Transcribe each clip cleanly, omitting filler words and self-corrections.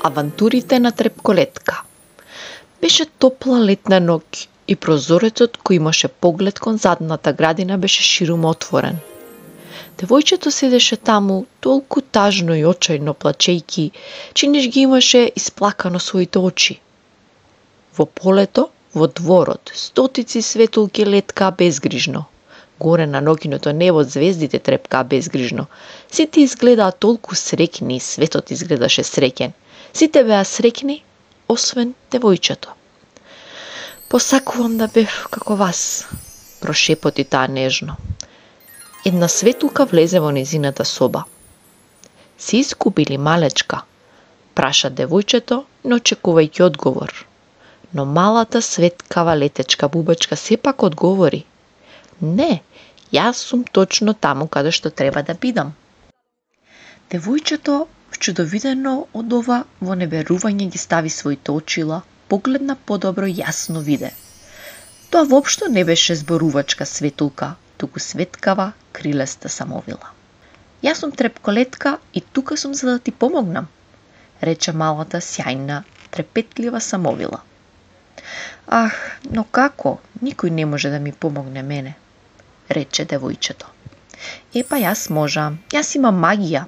Авантурите на Трепколетка. Беше топла летна ноќ и прозорецот кој имаше поглед кон задната градина беше широмо отворен. Девојчето седеше таму толку тажно и очајно плачејки, чиниш ги имаше исплакано своите очи. Во полето, во дворот, стотици светулки леткаа безгрижно. Горе на ноќното небо звездите трепкаа безгрижно. Сите изгледаа толку среќни и светот изгледаше среќен. Сите беа среќни, освен девојчето. Посакувам да бев како вас, прошепоти таа нежно. Една светулка влезе во незината соба. Си изгубили, малечка? Праша девојчето, не очекувајќи одговор. Но малата светкава летечка бубачка сепак одговори. Не, јас сум точно таму каде што треба да бидам. Девојчето, вчудовидено од ова во неверување ги стави своите очила, погледна подобро јасно виде. Тоа воопшто не беше зборувачка светулка, туку светкава, крилеста самовила. Јас сум Трепколетка и тука сум за да ти помогнам, рече малата сјајна, трепетлива самовила. Ах, но како? Никој не може да ми помогне мене, рече девојчето. Епа јас можам, јас имам магија,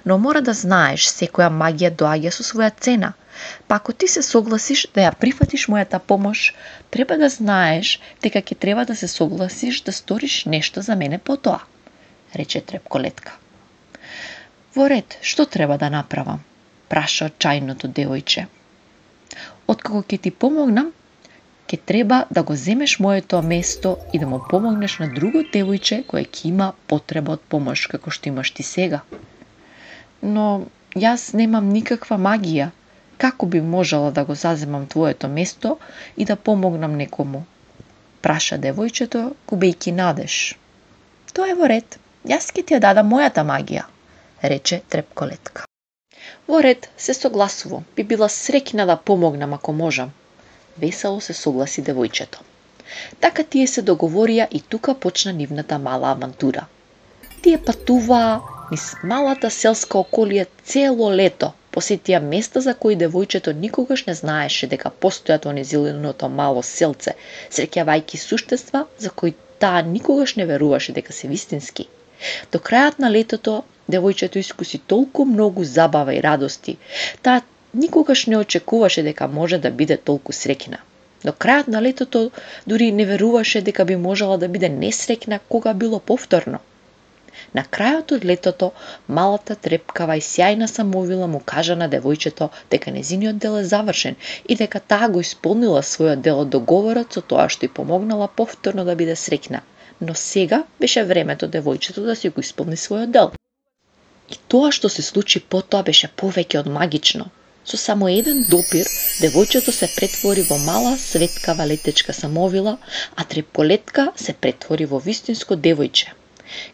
но мора да знаеш, секоја магија доаѓа со своја цена. Па ако ти се согласиш да ја прифатиш мојата помош, треба да знаеш дека ќе треба да се согласиш да сториш нешто за мене потоа, рече Трепколетка. Во ред, што треба да направам? Праша отчајното девојче. Откако ќе ти помогнам, ќе треба да го земеш моето место и да му помогнеш на друго девојче кое ќе има потреба од помош како што имаш ти сега. Но јас немам никаква магија. Како би можела да го заземам твоето место и да помогнам некому? Праша девојчето, губејќи надеж. Тоа е во ред, јас ќе ти ја дадам мојата магија, рече Трепколетка. Во ред, се согласувам, би била среќна да помогнам ако можам. Весело се согласи девојчето. Така тие се договорија и тука почна нивната мала авантура. Тие патуваа низ малата селска околија цело лето, посетија места за кои девојчето никогаш не знаеше дека постојат во незиното мало селце, среќавајќи суштества за кои таа никогаш не веруваше дека се вистински. До крајот на летото, девојчето искуси толку многу забава и радости, таа никогаш не очекуваше дека може да биде толку среќна. До крајот на летото дури не веруваше дека би можела да биде несреќна кога било повторно. На крајот од летото, малата трепкава и сјајна самовила му кажа на девојчето дека незиниот дел е завршен и дека таа го исполнила својот дел од договорот со тоа што ѝ помогнала повторно да биде среќна. Но сега беше времето девојчето да си го исполни својот дел. И тоа што се случи потоа беше повеќе од магично. Со само еден допир, девојчето се претвори во мала светкава летечка самовила, а Трепколетка се претвори во вистинско девојче.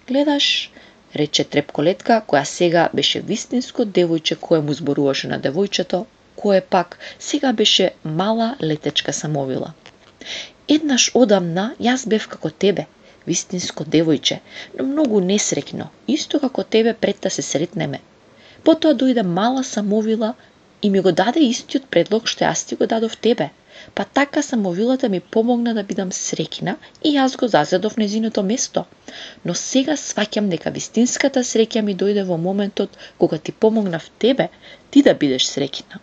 Гледаш, рече Трепколетка, која сега беше вистинско девојче кое му зборуваше на девојчето, кое пак сега беше мала летечка самовила. Еднаш одамна јас бев како тебе, вистинско девојче, но многу несреќно, исто како тебе пред да се сретнеме. Потоа дојде мала самовила и ми го даде истиот предлог што јас ти го дадов тебе. Па така самовилата ми помогна да бидам среќна и јас го зазедов незиното место. Но сега сваќам дека вистинската среќа ми дојде во моментот кога ти помогнав тебе, ти да бидеш среќна.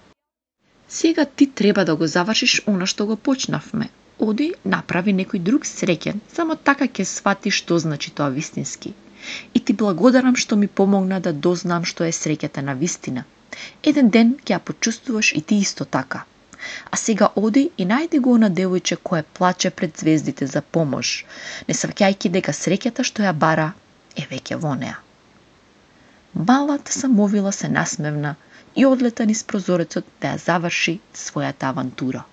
Сега ти треба да го завршиш она што го почнавме. Оди, направи некој друг среќен, само така ќе сватиш што значи тоа вистински. И ти благодарам што ми помогна да дознам што е среќата на вистина. Еден ден ќе ја почувствуваш и ти исто така. А сега оди и најди го на девојче кое плаче пред звездите за помош, не сваќајќи дека среќата што ја бара е веќе во неа. Малата самовила се насмевна и одлета низ прозорецот да ја заврши својата авантура.